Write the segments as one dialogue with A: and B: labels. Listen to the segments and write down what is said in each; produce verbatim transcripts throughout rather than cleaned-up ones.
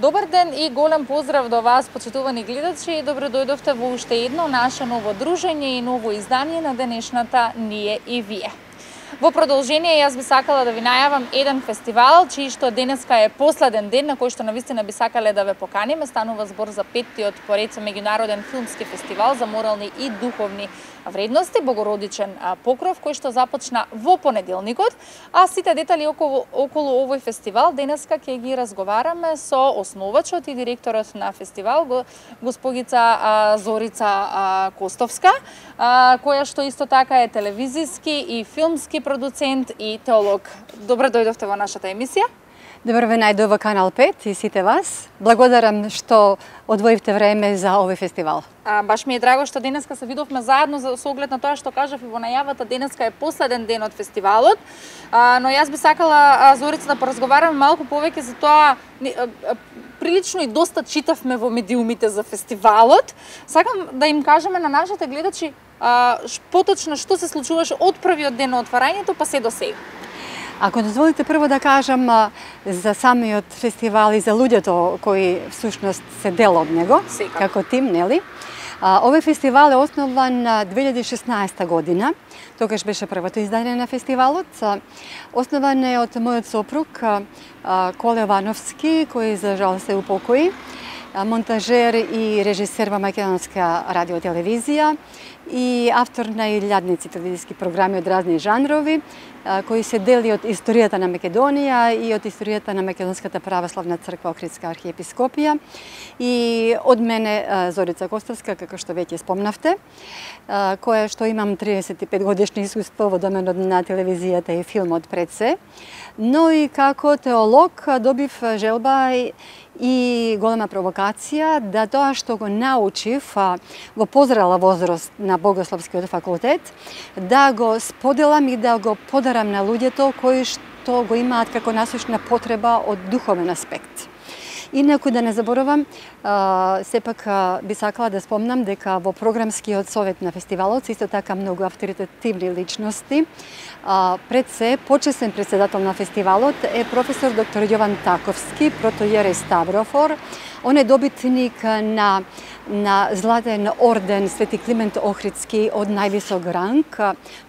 A: Добар ден и голем поздрав до вас, почитувани гледачи, и добро дојдовте во уште едно наше ново дружење и ново издание на денешната Ние и вие. Во продолжение, јас би сакала да ви најавам еден фестивал, чиј што денеска е последен ден на кој што навистина би сакале да ве поканиме. Станува збор за петтиот поред меѓународен филмски фестивал за морални и духовни вредности, Богородичен покров, кој што започна во понеделникот, а сите детали околу, околу овој фестивал денеска ќе ги разговараме со основачот и директорот на фестивал, госпогица Зорица Костовска, која што исто така е телевизиски и филмски продуцент и теолог. Добро дојдовте во нашата емисија.
B: Добро ве најдов во Канал пет и сите вас. Благодарам што одвоивте време за овој фестивал.
A: А, баш ми е драго што денеска се видовме заедно за со оглед на тоа што кажав и во најавата, денеска е последен ден од фестивалот. А, но јас би сакала, а, Зорица, да поразговараме малку повеќе за тоа. А, а, прилично и доста читавме во медиумите за фестивалот. Сакам да им кажеме на нашите гледачи а, поточно што се случуваше од првиот ден на отварањето па се до сега.
B: Ако дозволите прво да кажам за самиот фестивал и за луѓето кои всушност се дел од него,
A: Секако.
B: како тим, нели? Овој фестивал е основан две илјади и шеснаесета година, тогаш беше првото издание на фестивалот. Основан е од мојот сопруг Коле Вановски, кој за жал се упокои, монтажер и режисер во македонска радиотелевизија и автор на илјадници телевизиски програми од разни жанрови, кои се дели од историјата на Македонија и од историјата на Македонската православна црква Охридска архиепископија. И од мене Зорица Костовска, како што веќе спомнавте, која што имам триесет и пет годишни искуство во доменот на телевизијата и филмот пред се, но и како теолог добив желба и голема провокација да тоа што го научив во позрела возраст на Богословскиот факултет, да го споделам и да го подарам на луѓето кои што го имаат како насушна потреба од духовен аспект. Инаку да не заборавам, сепак би сакала да спомнам дека во програмскиот совет на фестивалот исто така многу авторитетивни личности. Пред се, почесен председател на фестивалот е професор доктор Јован Таковски, протоиерей Ставрофор. Он е добитник на на златен орден Свети Климент Охридски од највисок ранг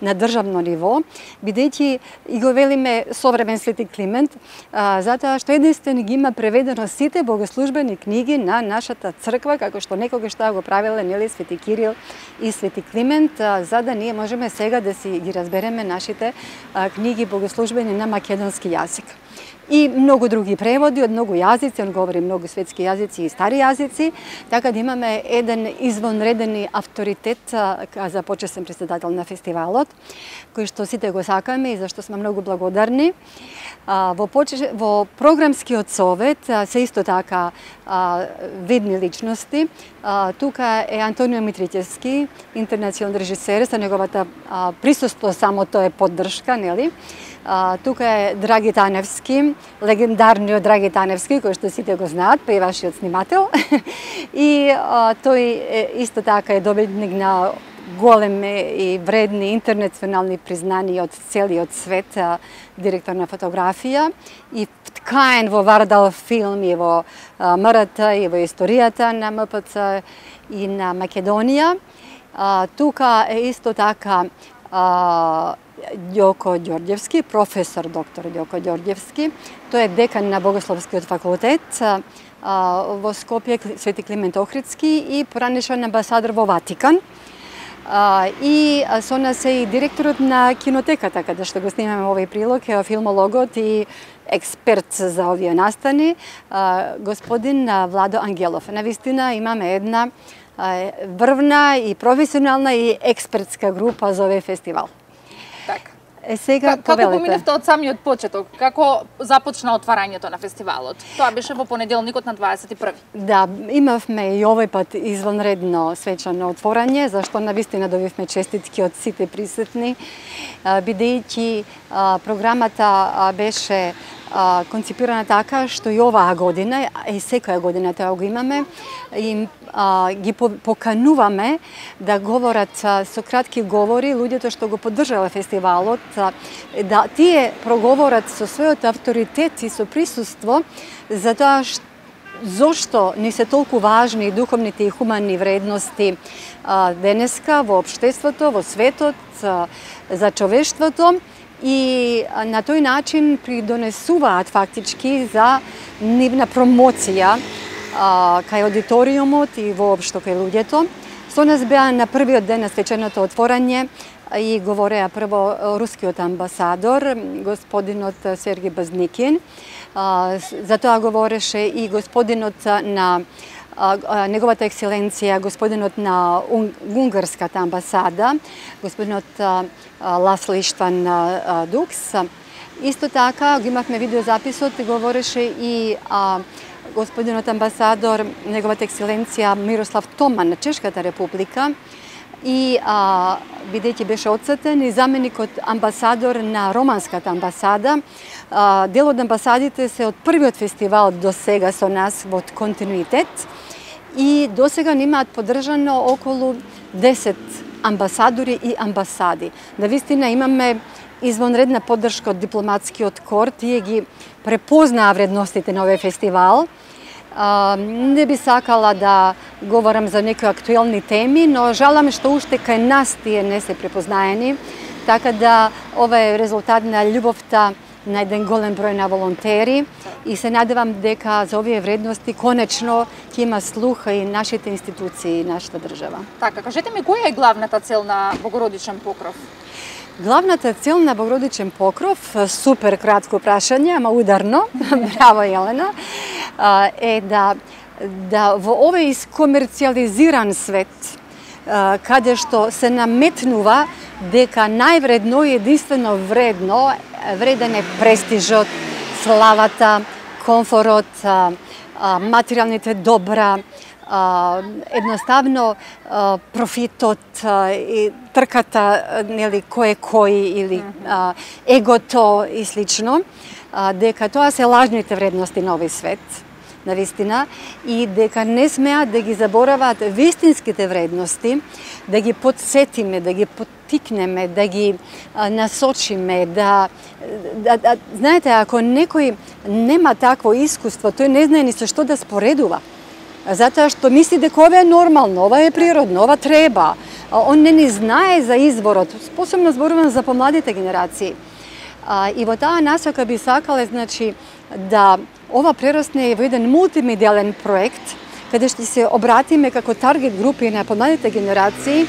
B: на државно ниво, бидејќи и го велиме современ Свети Климент, затоа што единствен ги има преведено сите богослужбени книги на нашата црква, како што некогаш тоа го правеле, нели, Свети Кирил и Свети Климент, за да ние можеме сега да си ги разбереме нашите книги богослужбени на македонски јазик. И многу други преводи од многу јазици, он говори многу светски јазици и стари јазици, така да имаме еден извонреден авторитет за почесен председател на фестивалот, кој што сите го сакаме и зашто сме многу благодарни. Во, почеш... во програмскиот совет се исто така видни личности. Тука е Антонио Митричевски, интернационален режисер, за неговата присуство само тоа е поддршка, нели? Тука е Драги Таневски, легендарниот Драги Таневски, кој што сите го знаат, па и вашиот снимател. И а, тој е, исто така е добитник на големи и вредни интернационални признани од целиот свет, а, директор на фотографија и вткаен во Вардал филм и во а, МРТ и во историјата на МПЦ и на Македонија. А, тука е исто така а, Ѓоко Ѓорѓевски, професор доктор Ѓоко Ѓорѓевски. Тој е декан на Богословскиот факултет во Скопје, Свети Климент Охридски и поранешен амбасадор во Ватикан. И со нас е и директорот на кинотеката, каде што го снимаме овој прилог, филмологот и експерт за овие настани, господин Владо Ангелов. Навистина имаме една врвна и професионална и експертска група за овој фестивал.
A: Така.
B: Е, сега
A: Како поминавте од самиот почеток? Како започна отварањето на фестивалот? Тоа беше во понеделникот на дваесет и први.
B: Да, имавме и овој пат извонредно свечано отворање, зашто навистина добивме честитки од сите присутни, бидејќи програмата беше конципирана така што и оваа година, и секоја година тоа го имаме, им а, ги покануваме да говорат со кратки говори луѓето што го поддржале фестивалот, да тие проговорат со својот авторитет и со присуство за тоа што зошто ни се толку важни духовните и хуманни вредности денеска во општеството, во светот, за човештвото и на тој начин придонесуваат фактички за нивна промоција кај аудиториумот и воопшто кај луѓето. Со нас беа на првиот ден на свеченото отворање и говореа прво рускиот амбасадор, господинот Сергеј Базникин. За тоа говореше и господинот на неговата екселенција, господинот на унгарската амбасада, господинот Ласло Иштван Дукс. Исто така, го имавме видеозаписот, говореше и а, господинот амбасадор, неговата екселенција Мирослав Томан на Чешката република и а, бидејќи беше одсетен и заменикот амбасадор на романската амбасада. А, дел од амбасадите се од првиот фестивал до сега со нас во континуитет и до сега имаат поддржано околу десет амбасадори и амбасади. Навистина имаме извонредна поддршка од дипломатскиот кор, тие ги препознаа вредностите на овој фестивал. А, не би сакала да говорам за некои актуелни теми, но жалам што уште кај нас тие не се препознаени, така да ова е резултат на љубовта на еден голем број на волонтери и се надевам дека за овие вредности конечно ќе има слух и нашите институции и нашата држава.
A: Така, кажете ми, која е главната цел на Богородичен покров?
B: Главната цел на Богородичен покров, супер кратко прашање, ама ударно, браво Елена, е да, да во овој искомерцијализиран свет, каде што се наметнува дека највредно и единствено вредно, вреден е престижот, славата, комфорот, материјалните добра, едноставно профитот и трката, нели, кој е кој или егото и слично, дека тоа се лажните вредности на овој свет, навистина, и дека не смеат да ги забораваат вистинските вредности, да ги подсетиме, да ги поттикнеме, да ги а, насочиме, да, да, да... Знаете, ако некој нема такво искуство, тој не знае ни со што да споредува. Затоа што мисли дека ова е нормално, ова е природно, ова треба. Он не ни знае за изворот, посебно зборувам за помладите генерации. А, и во таа насока би сакале, значи, да ова прерасне во еден мултимедијален проект, каде што се обратиме како таргет групи на помладите генерации,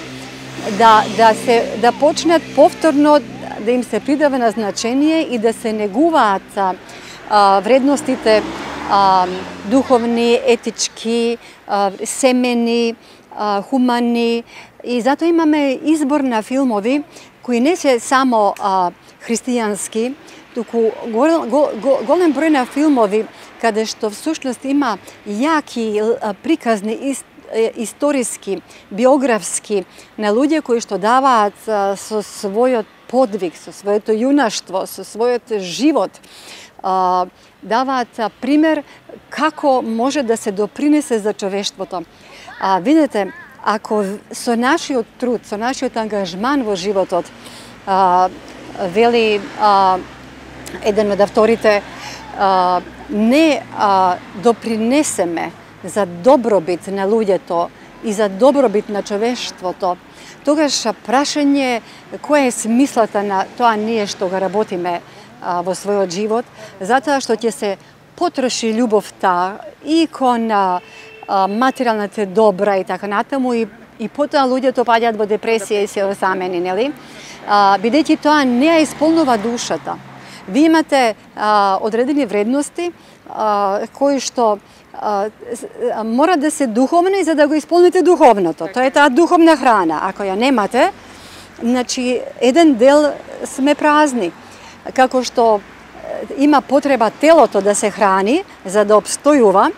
B: да, да, се, да почнат повторно да им се придава на значение и да се негуваат а, вредностите а, духовни, етички, а, семени, а, хумани. И затоа имаме избор на филмови кои не се само а, христијански, туку гол, гол, гол, голем број на филмови каде што всушност има јаки приказни ист, историски, биографски на луѓе кои што даваат со својот подвиг, со своето јунаштво, со својот живот, даваат пример како може да се допринесе за човештвото. А, видете, ако со нашиот труд, со нашиот ангажман во животот, а, вели а, еден од авторите, а, не а, допринесеме за добробит на луѓето и за добробит на човештвото, тогаш прашање која е смислата на тоа ние што го работиме а, во својот живот, затоа што ќе се потроши љубовта и кон а, материјалните добра и така натаму и, и потоа луѓето паѓаат во депресија и се осамени, нели? А, бидејќи тоа не ја исполнува душата. Ви имате а, одредени вредности а, кои што а, мора да се духовни за да го исполните духовното. Тоа е таа духовна храна. Ако ја немате, значи еден дел сме празни. Како што има потреба телото да се храни за да обстојува,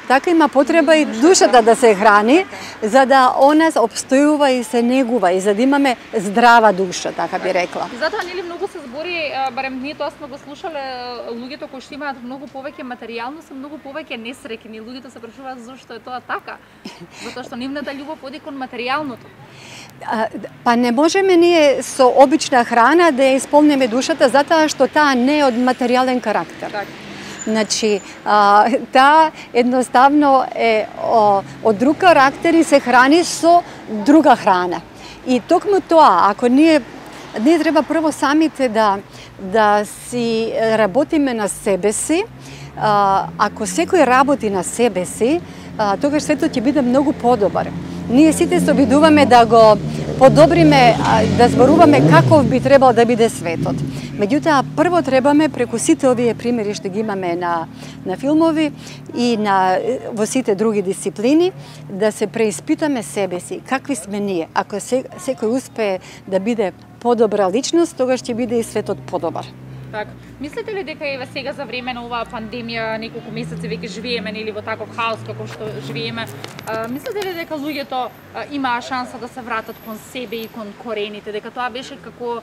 B: така има потреба и душата да се храни, за да она обстојува и се негува и за да имаме здрава душа, така би рекла.
A: Затоа нели многу се збори, барем ние тоа сме го слушале, луѓето кои што имаат многу повеќе материјално се многу повеќе несреќни. Луѓето се прашуваат зошто е тоа така? Затоа што нивната љубов оди кон материјалното.
B: Па не можеме ние со обична храна да ја исполниме душата, затоа што таа не е од материјален карактер.
A: Так.
B: Значи, а, таа едноставно е о, од друг карактер и се храни со друга храна. И токму тоа, ако ние ние треба прво самите да да си работиме на себе си, а, ако секој работи на себе си, а, тогаш светот ќе биде многу подобар. Ние сите се обидуваме да го подобриме, да зборуваме каков би требал да биде светот. Меѓутоа, прво требаме преку сите овие примери што ги имаме на, на филмови и на, во сите други дисциплини, да се преиспитаме себе си, какви сме ние. Ако се, секој успее да биде подобра личност, тогаш ќе биде и светот подобар.
A: Така. Мислите ли дека еве сега за време на оваа пандемија, неколку месеци веќе живееме нели во таков хаос како што живееме, а, мислите ли дека луѓето а, имаа шанса да се вратат кон себе и кон корените, дека тоа беше како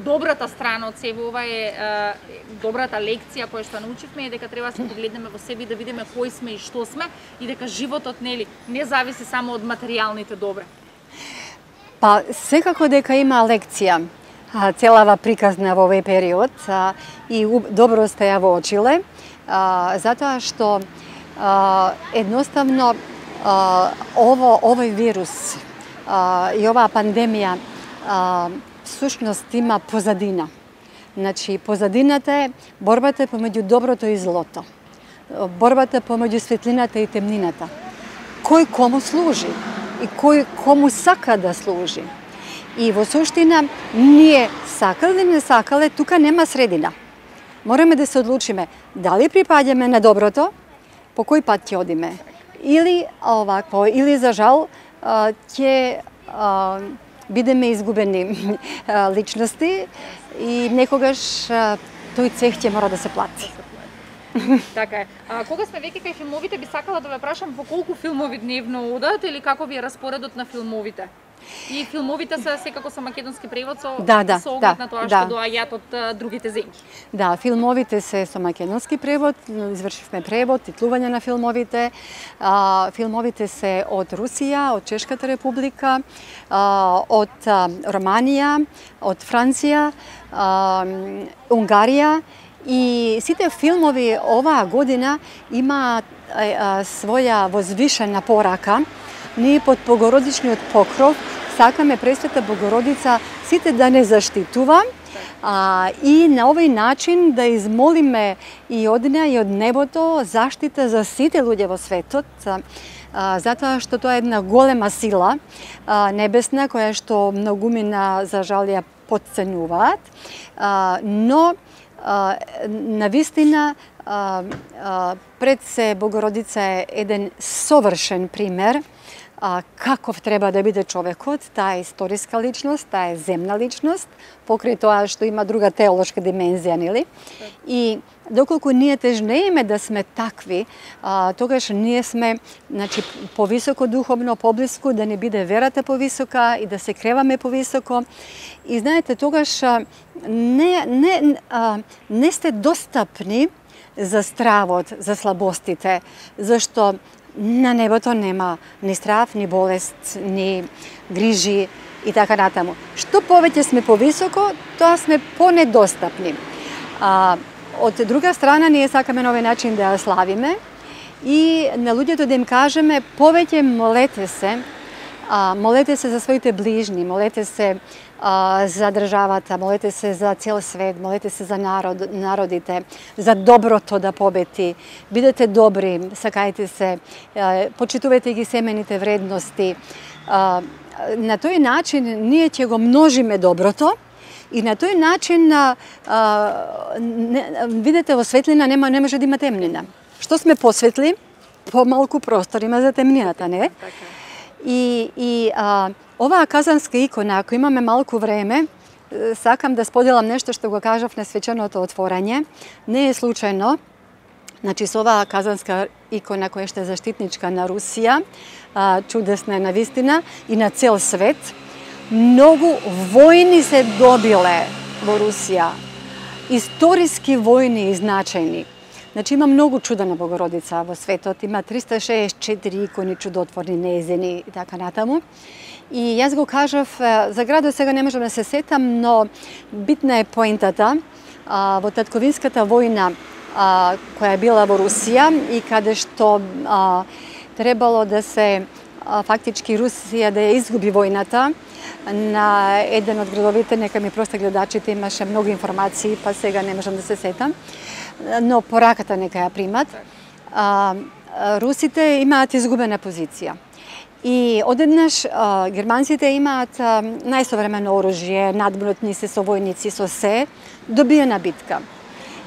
A: добрата страна од себе, ова е а, добрата лекција која што научивме, е дека треба да се погледнеме во себе и да видиме кои сме и што сме, и дека животот нели не зависи само од материјалните добра?
B: Па секако дека има лекција целава приказна во овој период а, и добро сте ја воочиле, а, затоа што а, едноставно а, ово, овој вирус а, и оваа пандемија а, всушност има позадина. Значи, позадината е борбата помеѓу доброто и злото. Борбата помеѓу светлината и темнината. Кој кому служи и кој кому сака да служи. И во суштина, ние сакале или не сакале, тука нема средина. Мораме да се одлучиме дали припаѓаме на доброто, по кој пат ќе одиме. Или овакво, или за жал ќе бидеме изгубени личности и некогаш тој цех ќе мора да се плати.
A: Така е. А, кога сме веќе кај филмовите, би сакала да ве прашам по колку филмови дневно одат или како ви е распоредот на филмовите? И филмовите се секако со македонски превод со,
B: да, да,
A: со оглед
B: да,
A: на тоа
B: да.
A: што доаѓаат од а, другите земји.
B: Да, филмовите се со македонски превод, извршивме превод, титлување на филмовите. А, филмовите се од Русија, од Чешката република, а, од а, Романија, од Франција, а, Унгарија. И сите филмови оваа година имаат своја возвишена порака. Ние под Богородичниот покров сакаме Пресвета Богородица сите да не заштитува а, и на овој начин да измолиме и од неа и од небото заштита за сите луѓе во светот, а, затоа што тоа е една голема сила а, небесна која што многумина за жал ја потценуваат, а, но а, навистина а, а, пред се Богородица е еден совршен пример а, каков треба да биде човекот. Таа е историска личност, таа е земна личност, покрај тоа што има друга теолошка димензија, нели? И доколку ние тежнееме да сме такви, а, тогаш ние сме, значи, повисоко духовно, поблиску, да не биде верата повисока и да се креваме повисоко. И знаете, тогаш а, не, не, а, не сте достапни за стравот, за слабостите, зашто на небото нема ни страв, ни болест, ни грижи и така натаму. Што повеќе сме повисоко, тоа сме понедостапни. А, од друга страна, ние сакаме на овој начин да ја славиме и на луѓето да им кажеме повеќе молете се, а, молете се за своите ближни, молете се а, за државата, молете се за цел свет, молете се за народ, народите, за доброто да побети. Бидете добри, сакајте се, а, почитувајте ги семените вредности. А, на тој начин ние ќе го множиме доброто и на тој начин а, а, не, видите, во светлина нема, не може да има темнина. Што сме посветли, помалку простор има за темнината, не? И, и а, оваа казанска икона, ако имаме малку време, сакам да споделам нешто што го кажав на свеченото отворање. Не е случајно, значи со оваа казанска икона која што е заштитничка на Русија, а, чудесна е навистина и на цел свет, многу војни се добиле во Русија, историски војни и значајни. Значи има многу чудена Богородица во светот, има триста шеесет и четири икони чудотворни нејзини и така натаму. И јас го кажав, за градот сега не можам да се сетам, но битна е поентата. А, во татковинската војна а, која е била во Русија и каде што а, требало да се а, фактички Русија да ја изгуби војната на еден од градовите, нека ми просто гледачите имаше многу информации, па сега не можам да се сетам, но пораката нека ја примат. А, русите имаат изгубена позиција. И одеднаш а, германците имаат а, најсовремено оружје, надмнутни се со војници, со се, добиена битка.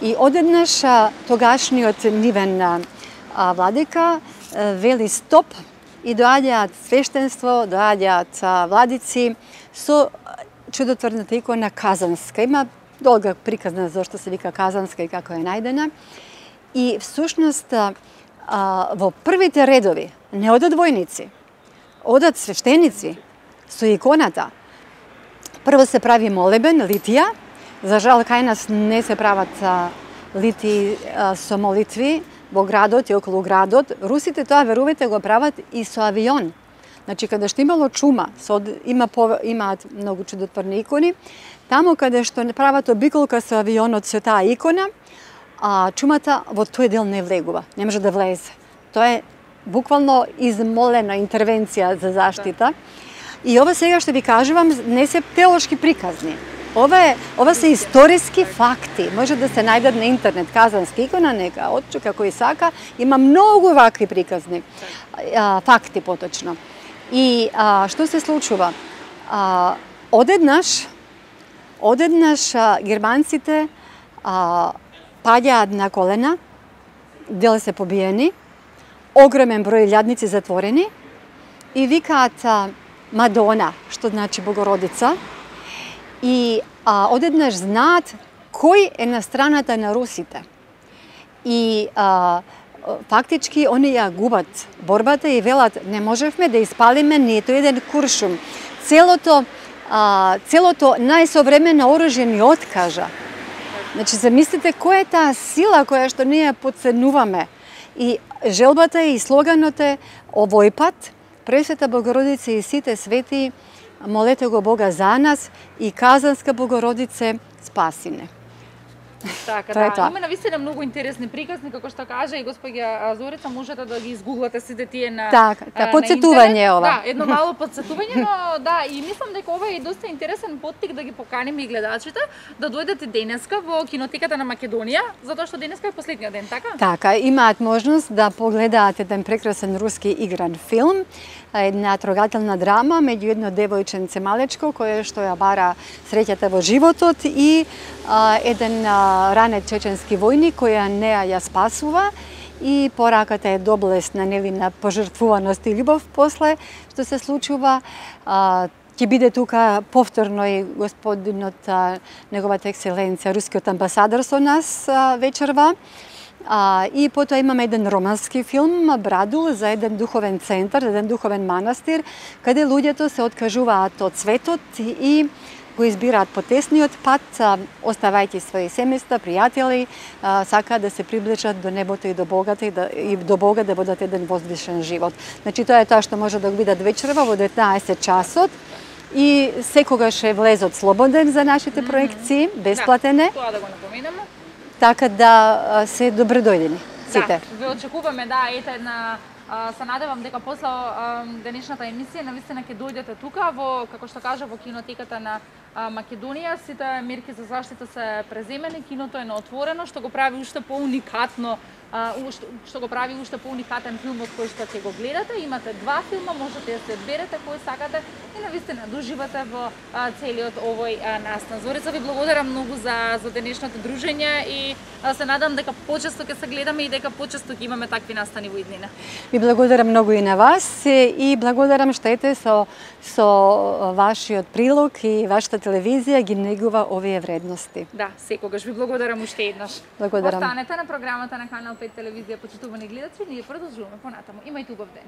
B: И одеднаш а, тогашниот нивен а, владика а, вели стоп и доаѓаат свештенство, доаѓаат а, владици со чудотворната икона Казанска. Има долга приказна зашто се вика Казанска и како е најдена. И всушност а, во првите редови не одат војници, одат свештеници со иконата. Прво се прави молебен, литија. За жал, кај нас не се прават а, литии а, со молитви во градот и околу градот. Русите тоа, верувате, го прават и со авион. Значи, каде што имало чума, со, има, имаат многу чудотворни икони, тамо каде што прават обиколка со авионот со таа икона, а чумата во тој дел не влегува, не може да влезе. Тоа е буквално измолена интервенција за заштита. И ова сега што ви кажувам не се теолошки приказни. Ова, е, ова се историски факти. Може да се најдат на интернет Казанска икона, нека отчука кој сака. Има многу вакви приказни, а, факти поточно. И а, што се случува? А, одеднаш, одеднаш а, германците а, паѓаат на колена, дел се побиени, огромен број лјадници затворени и викаат а, Мадона, што значи Богородица, и а, одеднаш знаат кој е на страната на русите. И а, фактички они ја губат борбата и велат не можевме да испалиме ниту еден куршум. Целото, а, целото најсовремено оружје ни откажа. Значи, замислите која е таа сила која што ние подценуваме. И желбата и слоганот е овој пат Пресвета Богородица и сите свети, молете го Бога за нас и Казанска Богородице, спаси не.
A: Така, да, тоа. Има навистина многу интересни приказни, како што кажа и господја Зорица, можете да ги изгуглате сите тие на
B: така, да, подсетување ова.
A: Да, едно мало подсетување, но да, и мислам дека ова е доста интересен поттик да ги поканиме и гледачите да дојдете денеска во кинотеката на Македонија, затоа што денеска е последниот ден, така?
B: Така, имаат можност да погледаат еден прекрасен руски игран филм, една трогателна драма меѓу едно девојченце малечко кое што ја бара среќата во животот и а, еден а, ранет чеченски војник која неа ја спасува и пораката е доблесна, нели, на пожртвуваност и љубов после што се случува. А, ќе биде тука повторно и господинот, а, неговата екселенција, рускиот амбасадор со нас а, вечерва. А, и потоа имаме еден романски филм Брадул за еден духовен центар, еден духовен манастир, каде луѓето се откажуваат од светот и го избираат потесниот пат, оставајќи своји семејства, пријатели, а, сакаат да се приближат до небото и до Богата и, да, и до Бога да водат еден возвишен живот. Значи тоа е тоа што може да го видат вечерва во деветнаесет часот. И секогаш е влезот слободен за нашите проекции, бесплатен е.
A: Да, тоа да го напоменеме.
B: Така да се добре дојдени сите.
A: Да, ве очекуваме, да, ете една, се надевам дека после денешната емисија навистина ќе дојдете тука во, како што кажа, во кинотеката на Македонија. Сите мерки за заштита се преземени, киното е на отворено, што го прави уште поуникатно, што го прави уште поуникатен филмот кој што ќе го гледате. Имате два филма, можете да се одберете кој сакате и навистина да уживате во целиот овој настан. Зорица, ви благодарам многу за за денешното дружење и се надам дека почесто ќе се гледаме и дека почесто ќе имаме такви настани во иднина.
B: Ви благодарам многу и на вас и благодарам што ете со со вашиот прилог и вашата телевизија ги негува овие вредности.
A: Да, секогаш ви благодарам уште еднаш.
B: Благодарам.
A: Останете на програмата на Канал пет телевизија, почитувани гледачи, ние продолжуваме понатаму. Имајте убав ден.